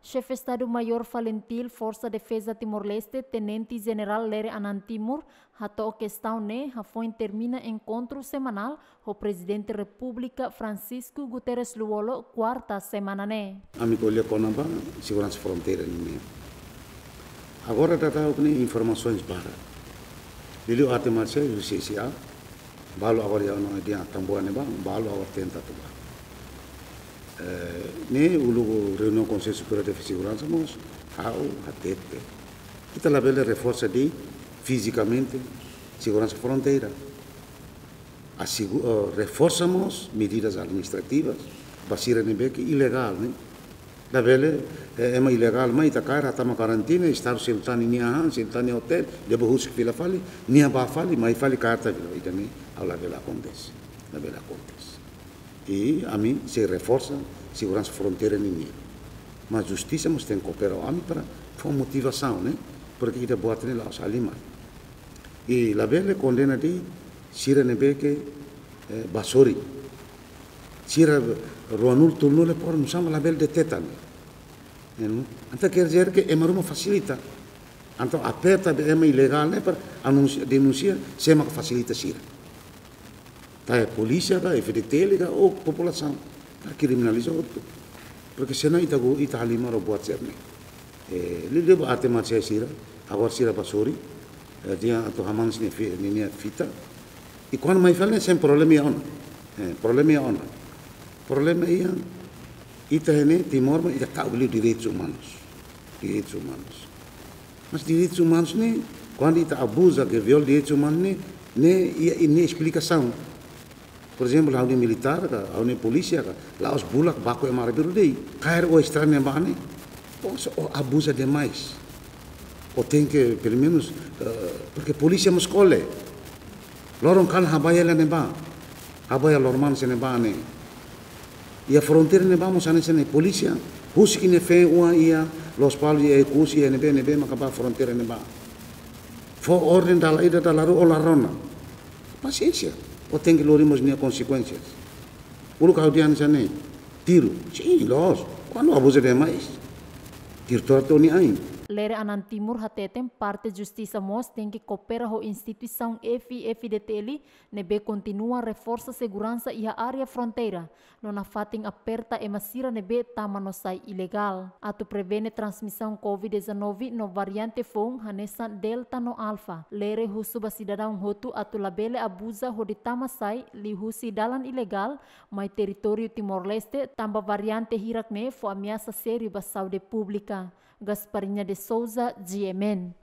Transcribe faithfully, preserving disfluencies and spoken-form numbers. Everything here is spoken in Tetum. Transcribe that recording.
Xefe Estadu Maiór Falintil Forsa Defeza Timor-Leste, Tenente Jenerál Lere Anan Timur, hato'o kestaun ne'e hafoin termina enkontru semanál ho Prezidente Repúblika Francisco Guterres Lú-Olo, kuarta semana ne'e. Ami ko'alia kona-ba seguransa fronteira nian. Agora daudaun ne'e informasaun barak. Liuliu arte marsiais husi C C A, balu agora iha ona iha Tambua ne'ebá, balu agora tenta atu bá. Eh, ne'e uluk reuniaun Konsellu Superiór de Seguransa mós, ha'u hatete. Ita labele reforsa de'it fizikamente seguransa fronteira. Asegu-, eh, reforsa mós medidas administrativas ba sira ne'ebé ke ilegál, ne'e. Labele, eh, ema ilegál mai ita kaer, ita tama karantina, Estadu sei tama nia han, sei tama nia otél, leba husik fila fali, nia bá fali, mai fali kaer ita fila, ida-ne'e, ha'u labele akontese, labele akontese. I ami sei reforsa seguransa fronteira nian. Mas justisa mós tenke koopera ho ami para fó motivasaun, ne'e? Porque ita-boot ne'e la'ós halimar. I labele kondena de'it sira ne'ebé ke, eh, bá sorin. Sira ruanulu, tolunulu, por nusá mak labele deteta, ne'e? Entaun, quer dizer que ema ruma fasilita. Entaun, aperta ba ema ilegál ne'e para anunsia, denunsia, sé mak fasilita sira. Tá, é polísia ka, F D T L ka, ou populasaun. Tá, kriminaliza hotu. Porque senão ita go, ita halimar buat sira-ne'e. Eh, liuliu ba arte marsiais sira, agora sira bá sorin, eh, dehan atu hamanas nia fi-, nia, nia fita. I kuandu mai fali ne'e sempre problema iha ona. Eh, problema iha ona. Problema iha, ita ne'e Timor mak ita ta'uk liu direitus umanus. Direitus umanus. Mas direitus umanus ne'e, kuandu ita abuza ke viola direitus umanus ne'e, ne'e iha, iha nia esplikasaun. Por ezemplu, ha'u-nia militár ka, ha'u-nia polísia ka, la'ós bulak baku ema arbiru de'it. Kaer o estranha bane, poxa, o abuza demais. O tenke, pelumenus, eh, porque polísia mós kole. Loron kalan ha'u bá iha ne'ebá, ha'u bá iha Loromans ne'ebá ne'e. Iha fronteira ne'ebá mós hanesan ne'e, polísia husik nia feen-oan iha Lospalos, iha Oekusi, iha ne'ebé, ne'ebé maka bá fronteira ne'ebá. Fó orden dala ida, dala rua, o la rona. Pasiénsia, o tenke lori mós nia konsekuénsias. Uluk ha'u dehan hanesan ne'e, tiru. Sin, loos. Kuandu abuza demais, tiru to'o nia ain. Lere Anan Timur hateten parte justisa mós tenke koopera ho instituisaun F I F D T L ne'ebé kontinua reforsa seguransa iha área fronteira, no nafatin aperta ema sira ne'ebé tama no sai ilegál. Atu prevene transmisaun covid dezanove no variante foun hanesan Delta no Alfa, Lere husu ba sidadaun hotu atu labele abuza hodi tama sai liuhusi dalan ilegál mai territóriu Timor-Leste, tanba variante hirak ne'e fó ameasa sériu ba saúde públika. Gasparinha de Souza, G M N.